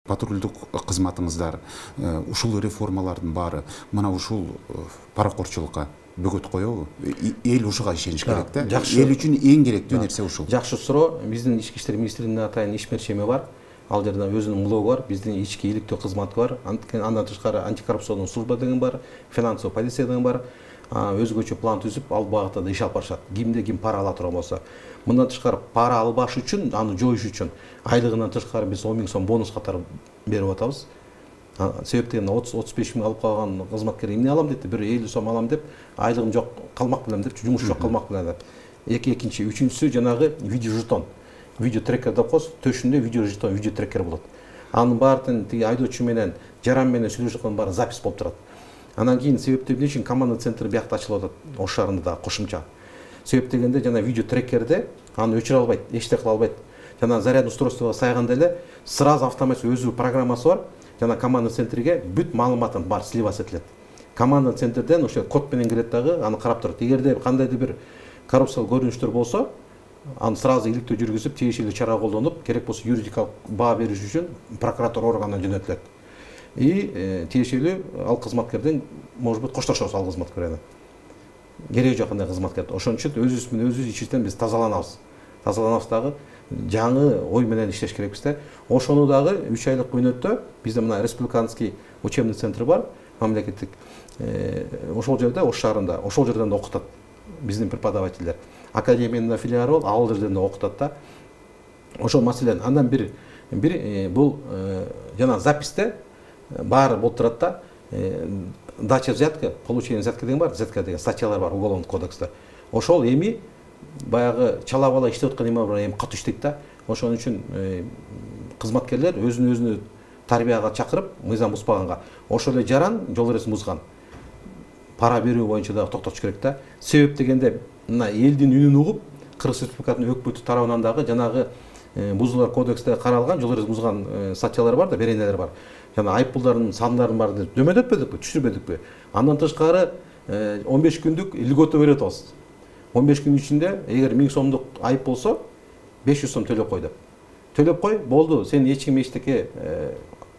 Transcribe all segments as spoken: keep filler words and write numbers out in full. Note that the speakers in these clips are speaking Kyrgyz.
Патрульдук кызматыңыздар ушул реформалардын баары мына ушул паракорчулукка бөгөт коебу? Эл ушуга ишениш керек да. Эл үчүн эң керектүү нерсе ушул. Жакшы суроо. Биздин ички иштер министрлигинин атайын ишмерчеми бар. Ал жерде өзүнүн блогу бар, биздин ички иликтөө кызматы бар. Андан тышкары антикоррупциондук служба деген бар, финансовый полиция деген бар. Өзгөчө план түзүп, ал багытта да иш алып барышат. Кимде ким пара ала турган болсо. Мындан тышкары пара албаш үчүн, аны жоюш үчүн айлыгынан тышкары биз он миң сом бонус катары берип атабыз. Себеп дегенде отуз отуз беш миң алып калган кызматкер эмне алам депти, бир элүү сом алам деп, айлыгым жок, калмак белем деп, жумуш жок, калмак белем деп. Эки экинчи, үчүнчүсү жанагы видео жетон. Видео трекер деп коебуз, төшүндө видео жетон, видео трекер болот. Анын баардын тиги айдоочу менен, жаран менен сүйлөшүп аткан баары запись болуп турат. Анан кийин себеп эмне үчүн команда центри биякта ачылып атат, Ош шаарында да кошумча. Себеп дегенде жана видео трекерде аны өчүрө албайт, эчтеке кыла албайт. Жана зарядный устройствого сайганда эле сразу автоматически өзү программасы бар. Жана команда центриге бүт маалыматын бар сливаться этилет. Команда центрден ошо код менен кирет дагы, аны карап турат. Эгерде кандайдыр бир коррупциялык көрүнүштөр болсо, аны сразу иликтөө жүргүзүп, тиешелүү чара колдонуп, керек болсо юридикалык баа бериш үчүн прокуратура органына жөнөтүлөт. И тиешелүү ал кызматкерден, может быть, коштошобуз ал кызматкер менен. Кереги жок андай кызматкерди. Ошон үчүн өзүбүз менен өзүбүз ичибизден биз тазаланабыз. Тазаланабыз дагы жаңы ой менен иштеш керекпиз да. Ошону дагы үч айлык мөөнөттө бизде мына республиканский учебный центр бар, мамлекеттик. Ошол жерде, Ош шаарында, ошол жерден да окутат биздин преподавательдер. Академиянын филиалы бар, ал жерден да окутат да. Ошол маселен андан бир бир бул жана записьте баары болуп турат да. Дача взятка, получение взятка деген бар, взятка деген статьялар бар уголовный кодексте. Ошол эми баягы чала бала иштеп аткан эме бар, эми катуу иштейт да. Ошон үчүн кызматкерлер өзүнө өзүнө тарбияга чакырып, мыйзам бузбаганга, ошол эле жаран жол эресин бузган пара берүү боюнча да токтотуш керек да. Себеп дегенде мына элдин үнүн угуп, Кыргыз Республикасынын өкмөтү тарабынан дагы жанагы бузуулар кодексте каралган жол эресин бузган статьялар бар да, беренелер бар. Жана айыппулдардын сандарын бар деп дөмөдөтпөдүкпү, түшүрбөдүкпү. Андан тышкары он беш күндүк льгота берет атабыз. он беш күн ичинде эгер миң сомдук айып болсо, беш жүз сом төлөп кой деп. Төлөп кой, болду, сени эч ким эчтеке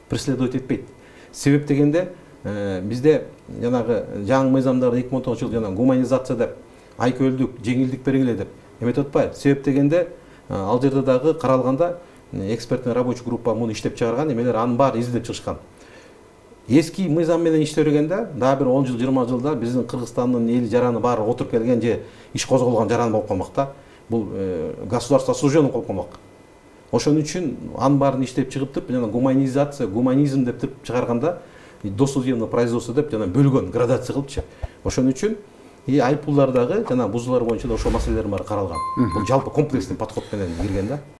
преследовать этпейт. Себеп дегенде бизде жанагы жаңы мыйзамдарды эки миң он тогузунчу жылы жана гуманизация деп, айкөлдүк, жеңилдик бергиле деп эметип атпайбы? Себеп дегенде ал жерде дагы каралганда экспертный рабочий группа муну иштеп чыгарган, эмелер анын баары изилдеп чыгышкан. Эски мыйзам менен иштебегенде, дагы бир он жыл, жыйырма жылда биздин Кыргызстандын эли жараны баары отуруп келген же иш козголгон жаран болуп калмак да. Бул государство осужденный болуп калмак. Ошон үчүн анын баарын иштеп чыгып, жана гуманизация, гуманизм деп туруп чыгарганда, досудебное производство деп жана бөлгөн, градация кылыпчы. Ошон үчүн и айыппулдар дагы жана бузуулар боюнча да ошол маселелер баары каралган. Бул жалпы комплексный подход менен кирген да.